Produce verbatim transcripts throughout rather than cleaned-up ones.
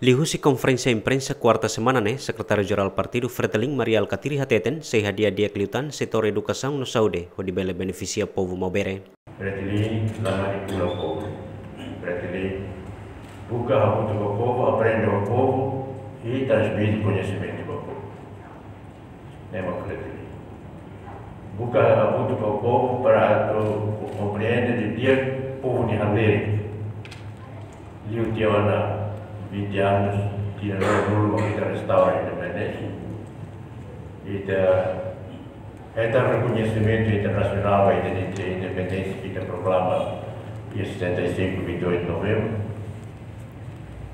Liuhusi konferénsia imprensa kuarta semana ne'e, Sekretáriu Jerál Partidu Fretilin, Mari Alkatiri hateten, sei hadi'a di'ak liután setór edukasaun no saúde, hodi bele benefisia povu Maubere. Fretilin la manipula povu. Fretilin buka hamutuk ho povu, aprende ho povu, i transmite koñesimentu ba povu. Ne'e mak Fretilin. Buka hamutuk ho povu para atu komprende didi'ak povu nia halerik. Liu tiha ona vinte anos, tinan ruanulu mak ita restaura independénsia. Ita hetan rekoñesimentu internasionál ba ita-nia independénsia, ita proklama dia setenta e cinco, vinte e oito de novembro.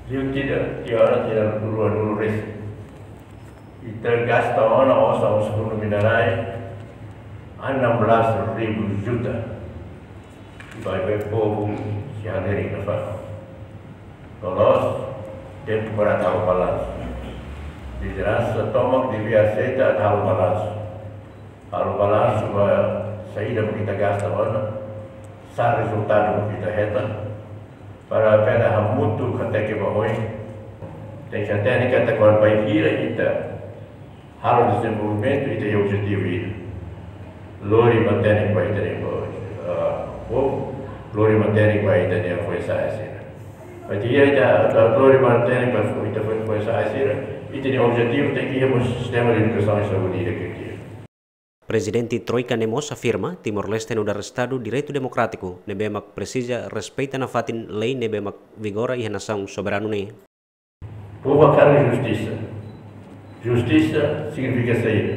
Liu tiha, tiha ona tinan ruanulu-resin. Ita gasta ona osan husi Fundu Minerais enam belas ribu juta. Baibain povu sei halerik nafatin. Loloos, tempu para atu halo balansu. Lideransa tomak devia aseita atu halo balansu. Halo balansu ba saida mak ita gasta ona, sá rezultadu mak ita hetan, para bele hamutuk hateke ba oin. Tenke hatene katak kuandu bainhira ita halo dezenvolvimentu, ita iha objetivu ida. Lori matenek ba ita-nia, ah, povu, lori matenek ba ita-nia foin-sa'e sira. Bainhira ita, ita lori matenek ba ita-nia foin-sa'e sira, ita-nia objetivu tenke iha mós sistema de edukasaun i saúde ida ke di'ak. Prezidente Troika ne'e mós afirma, Timor-Leste nu'udar Estadu direitu demokrátiku, ne'ebé mak presiza respeita nafatin lei ne'ebé mak vigora iha nasaun soberanu ne'e. Povu hakarak justisa. Justisa signifika saida?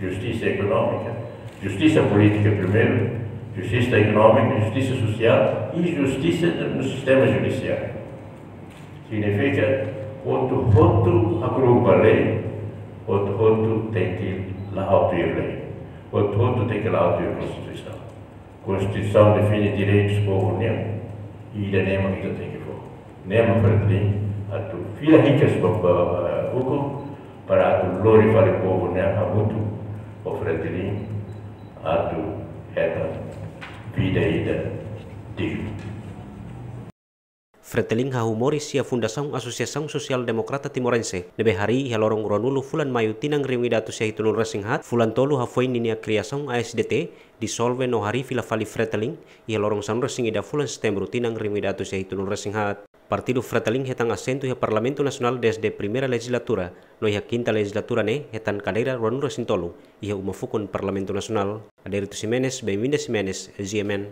Justisa ekonómika, justisa polítika primeiru, justisa ekonómika, justisa sosiál i justisa no sistema judisiáriu. Signifika hotu-hotu hakru'uk ba lei, hotu-hotu tenke la'o tuir lei, hotu-hotu tenke la'o tuir Konstituisaun. Konstituisaun define direitus povu nian, i ida-ne'e mak ita tenke fó. Ne'e mak Fretilin atu fila hikas ba, ba, ba ukun, para atu lori fali povu nian hamutuk ho Fretilin atu hetan vida ida dignu. Fretilin hahú moris iha Fundasaun Asosiasaun Sosiál Demokrata Timorense, ne'ebé harii iha loron ruanulu fulan Maiu tinan rihun ida atus sia hitunulu-resin-haat, fulan tolu hafoin ninia kriasaun A S D T, disolve no harii fila fali Fretilin iha loron sanulu-resin-ida fulan Setembru tinan rihun ida atus sia hitunulu-resin-haat. Partidu Fretilin hetan asentu iha Parlamentu Nasionál dezde primeira lejizlatura, no iha kinta lejizlatura ne'e hetan kadeira ruanulu-resin-tolu iha uma fukun Parlamentu Nasionál. Adérito Ximenes, Benvinda Ximenes, G M N.